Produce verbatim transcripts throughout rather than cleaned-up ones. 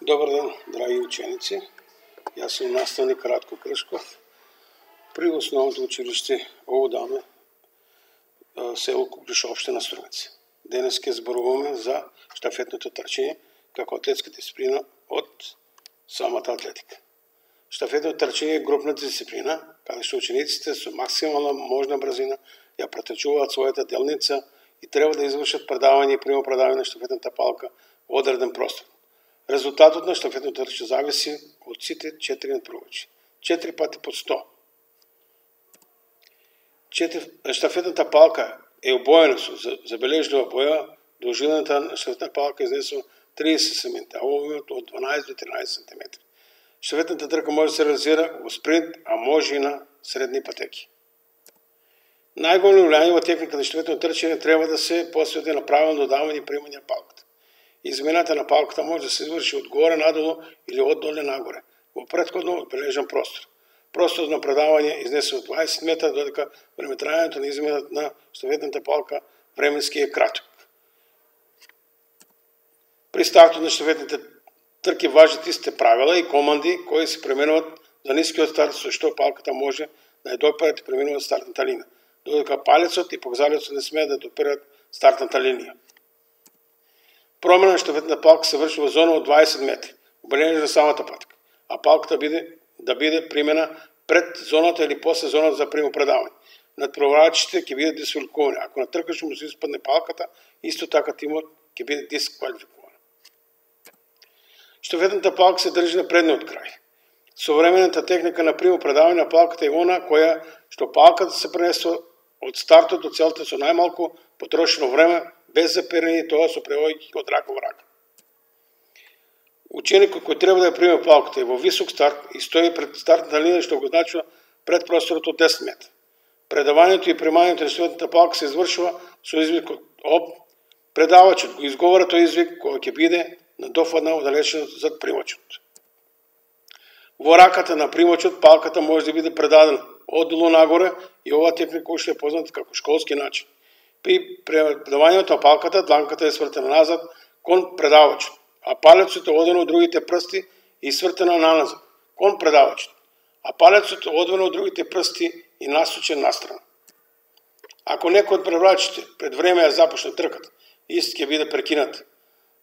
Добар ден, драги ученици. Јас сум наставник Радко Кршков при основното училиште Оводаме, село Куклиш, општина Струмец. Денес ќе зборуваме за штафетното трчање како атлетска дисциплина од самата атлетика. Штафетното трчање е групна дисциплина, каде што учениците со максимална можна брзина ја претрчуваат својата делница и треба да извршат предавање и примопредавање на штафетната палка во одреден простор. Резултатот на штафетното трчање зависи од сите четири надпреварувачи. четири пати по сто. Штафетната палка е обоена со забележлива боја, должината на штафетната палка изнесува триесет сантиметри, а обемот од дванаесет до тринаесет сантиметри. Штафетната трка може да се реализира во спринт, а може и на средни патеки. Најголемо влијание во техниката на штафетното трчање треба да се посвети на правилно додавање и примање на палката. Измената на палката може да се изврши од горе надолу или од доле нагоре, во претходно одбележан простор. Просторот на предавање изнесува дваесет метра, додека времетрајањето на измената на штафетната палка временски е краток. При стартот на штафетните трки важат истите правила и команди кои се пременуваат за нискиот старт, со што палката може да ја доперат и преминува стартната линија, додека палецот и показалецот не смеат да доперат стартната линија. Промена на штафетната палка се врши во зона од дваесет метри, обележена за самата патека, а палката биде, да биде примена пред зоната или после зоната за примопредавање. Надпреварувачите ќе бидат дисквалификувани. Ако на тркаш му се испадне палката, исто така тимот ќе биде дисквалификуван. Штафетната палка се држи на предниот крај. Современата техника на примопредавање на палката е она која што палката се пренесува од стартот до целта со најмалку потрошено време, без запирање, тоа со превојќи од рака во рака. Ученикот кој треба да ја приме палката е во висок старт и стои пред стартната линија, што го значува пред просторот од десет метри. Предавањето и примањето на штафетната палка се извршува со извикот ОП. Предавачот го изговара тој извик кој ќе биде на дофадна оддалеченост зад примачот. Во раката на примачот палката може да биде предадена оддолу нагоре и оваа техника уште е позната како школски начин. При предавањето на палката, дланката е свртена назад кон предавачот, а палецот е одвен од другите прсти и свртена наназад кон предавачот, а палецот е одвен од другите прсти и насочен настрана. Ако некој од предавачите пред време ја започне трката, ист ќе биде прекинат.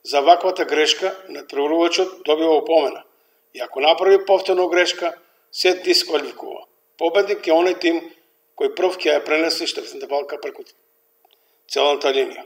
За ваквата грешка надпреварувачот добива опомена и ако направи повторно грешка, се дисквалификува. Победник е оној тим кој прв ќе ја пренесе штафетната палка преку целата линија.